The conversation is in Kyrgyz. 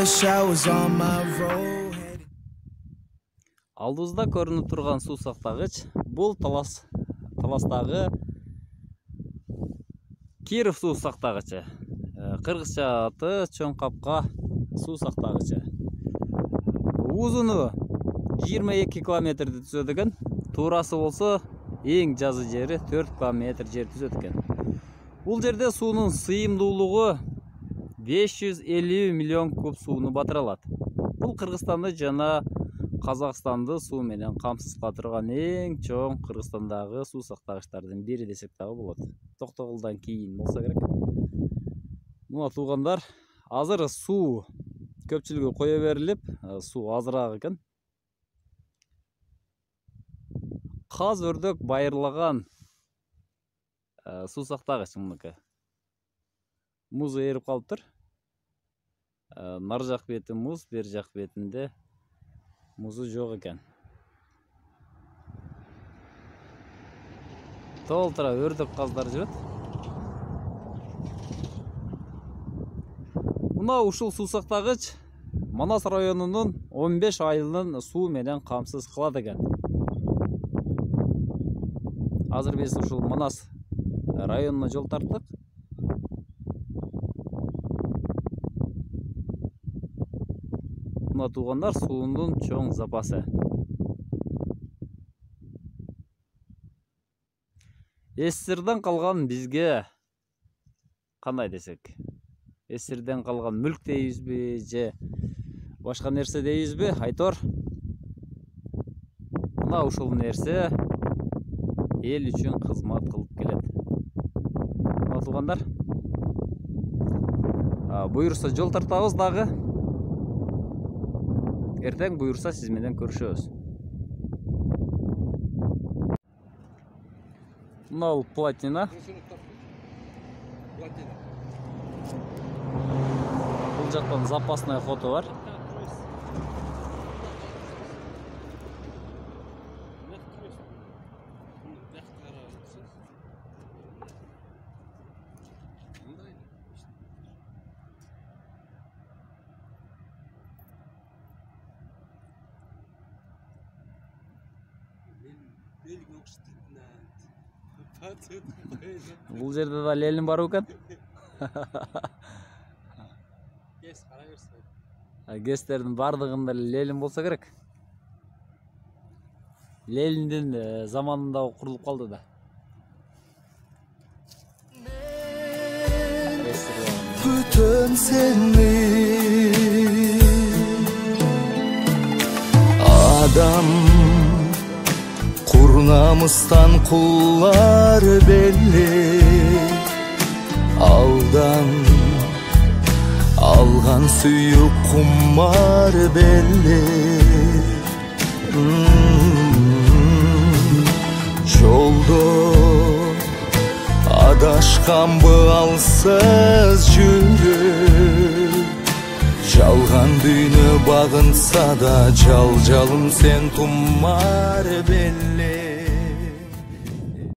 showers on my road. Алдыбызда көрүнүп турган суу сактагыч бул Таластагы Киров суу сактагычы. Кыргызча аты Чоң Капка суу сактагычы. Узуну 22 километрди түзөт экен. Туурасы болсо эң жазы жери 4 километр жер түзөт экен. Бул жерде суунун сыйымдуулугу 550 миллион куб сууну батыра алат. Бул Кыргызстанды жана Казакстанды суу менен камсыз калтырган эң чоң Кыргызстандагы суу сактагычтардын бири десек дагы болот. Токтогулдан кийин болсо керек. Мына туугандар, азыр суу көпчүлүгү кое берилип, суу азыраак экен. Каз өрдөк байырлаган суу сактагыч мыныкы. Музу эрип калыптыр. Нар жак бети муз, бер жак бетинде музу жок экен. Толтура өрдөк каздар жүрөт. Мына ушул суу сактагыч Манас районунун 15 айылын суу менен камсыз кылат экен. Азыр биз ушул Манас районуна жол тарттык. Мына туугандар, суунун чоң запасы. СССРден калган бизге кандай десек? СССРден калган мүлк дейбизби же башка нерсе дейбизби? Айтор. Мына ушул нерсе эл үчүн кызмат кылып келет. Мына туугандар, буйрса жол тартабыз дагы. Эртең буйрса сиз менен көрүшөбүз. Мына бул платина. Бул жактан запасный фото бар. Бул жерде да Ленин бар экен. Гестердин бардыгында Ленин болсо керек. Лениндин заманында курулуп калды да. Бүтөн сени адам курнамыстан куллар белли, алдан алган сүйүк кумар белли. Жолдо адашканбы алсыз жүрүп, жалган дүйнө багынса да жал-жалым сен тумар белли.